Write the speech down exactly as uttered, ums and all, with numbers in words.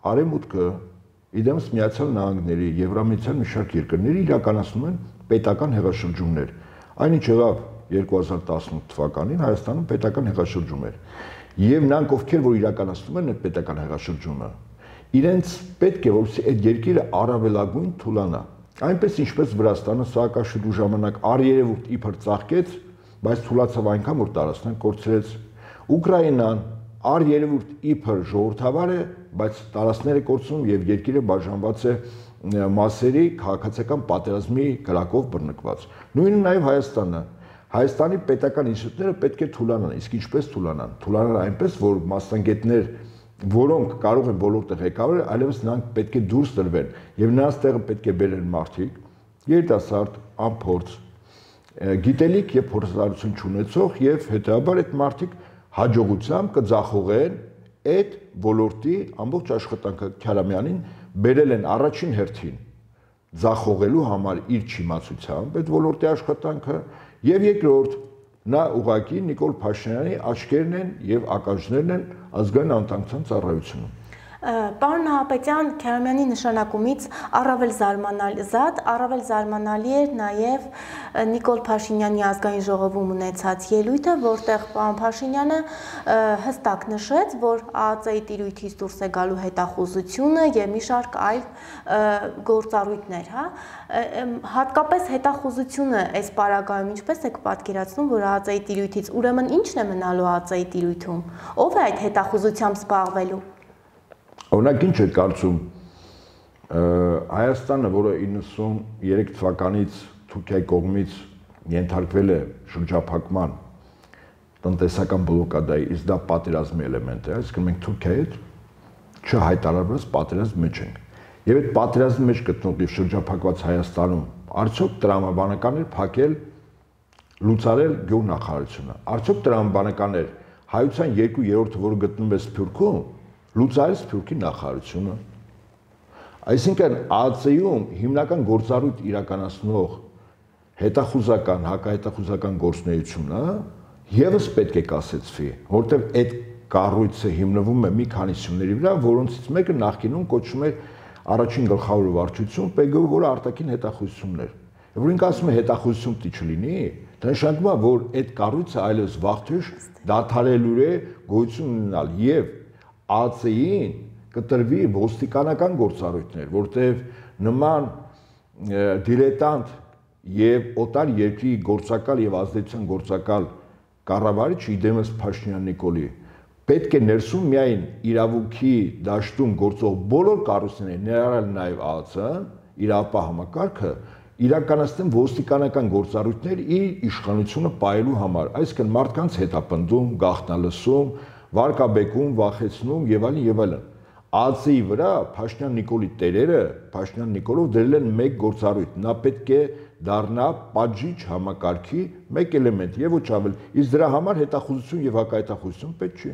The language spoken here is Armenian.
Արևմուտքը, իդեմս Միացյալ Նահանգների, Եվրամիության մի շարք երկրների իրականացնում են պետական հեղաշրջումներ։ Այնինչ եղավ երկու հազար տասնութ թվականին Հայաստանում պետական հեղաշրջում էր։ Եվ նրանք, ովքեր որ իրականացնում են այդ պետական հեղաշրջումը, իրենց պետք է որ այդ երկիրը առավելագույն թուլանա։ Այնպես ինչպես Վրաստանը Սաակաշվիլու ժամանակ առերևույթ իբր ծաղկեց, բայց թուլացավ այնքան որ տարածքներ կորցրեց։ Ուկրաինան առերևույթ իբր ժողովրդավար է, բայց տարածքները կորցնում եւ երկիրը բաժանված է մասերի քաղաքացիական պատերազմի գրակով բռնկված։ Նույնը նաեւ Հայաստանը։ Հայաստանի պետական ինստիտուտները պետք է թուլանան, իսկ ինչպես թուլանան։ Թուլանան այնպես, որ մասնագետներ, որոնք կարող են ոլորտը ղեկավարել, այլևս նրանք պետք է դուրս տրվեն եւ նրանց տեղը պետք է բերեն մարդիկ, երիտասարդ, անփորձ, գիտելիք եւ փորձառություն չունեցող եւ հետեւաբար այդ մարդիկ հաջողությամբ կձախողեն այդ ոլորտի ամբողջ աշխատանքը Քյարամյանին բերել են առաջին հերթին ձախողելու համար իր չիմացությամբ այդ ոլորտի աշխատանքը եւ երկրորդ նա ուղղակի Նիկոլ Փաշինյանի աչքերն են եւ ականջներն են ազգային անվտանգության ծառայությունում։ Պարոն Նահապետյան, Քյարամյանի նշանակումից առավել զարմանալի զատ, առավել զարմանալի էր նաև Նիկոլ Փաշինյանի ազգային ժողովում ունեցած ելույթը, որտեղ պարոն Փաշինյանը հստակ նշեց, որ ԱԱԾ-ի տիրույթից դուրս է գալու հետախուզությունը եւ մի շարք այլ գործառույթներ, հա, հատկապես հետախուզությունը այս պարագայում ինչպես եք պատկերացնում, որ ԱԱԾ-ի տիրույթից ուրեմն ի՞նչն է մնալու ԱԱԾ-ի տիրույթում, ով է այդ հետախուզությամբ զբաղվելու։ Օրինակ ինչ է կարծում Հայաստանը, որը իննսուններեք թվականից Թուրքիայի կողմից ենթարկվել է շրջափակման տնտեսական բլոկադայի, իսկ դա պատերազմի էլեմենտ է, այսինքն մենք Թուրքիայի հետ չհայտարարված պատերազմի մեջ ենք։ Եվ այդ պատերազմի մեջ գտնվող եւ շրջափակված Հայաստանում արդյոք տրամաբանական էր փակել լուծարել գյուղնախարարությունը։ Արդյոք տրամաբանական էր հայության երկու երրորդը, որը գտնվում է Սփյուռքում, լուծարել Սփյուռքի նախարարությունը։ Այսինքն ԱԱԾ-ում հիմնական գործառույթ իրականացնող հետախուզական, հակահետախուզական գործունեությունը եւս պետք է կասեցվի, որտեղ այդ կառույցը հիմնվում է մի քանի սյուների վրա, որոնցից մեկը նախկինում կոչվում էր առաջին գլխավոր վարչություն, Պ Գ, որը արտաքին հետախուզությունն էր։ Որ ինքը ասում է հետախուզություն պիտի չլինի, դա նշանակում է, որ այդ կառույցը այլևս վաղթյուշ դադարելու է գոյություն ունենալ եւ ԱԱԾ-ին կտրվի ոստիկանական գործառույթներ, որտեղ նման դիլետանտ եւ օտար երկրի գործակալ եւ ազդեցության գործակալ կառավարիչ իդեմս Փաշինյան Նիկոլի պետք է ներսում միայն իրավունքի դաշտում գործող բոլոր կառույցները, ներառյալ նաեւ ԱԱԾ-ն, իրապահ համակարգը իրականացնեն ոստիկանական գործառույթներ իր իշխանությունը պահելու համար, այսինքն մարդկանց հետապնդում, գաղտնալսում, վարկաբեկում, վախեցնում եւ այլն եւ այլն։ ԱԱԾ-ի վրա Փաշինյան Նիկոլի տերերը, Փաշինյան Նիկոլով դրել են մեկ գործառույթ, նա պետք է դառնա պատժիչ համակարգի մեկ էլեմենտ եւ ոչ ավել։ Իսկ դրա համար հետախուզություն եւ հակահետախուզություն պետք չի։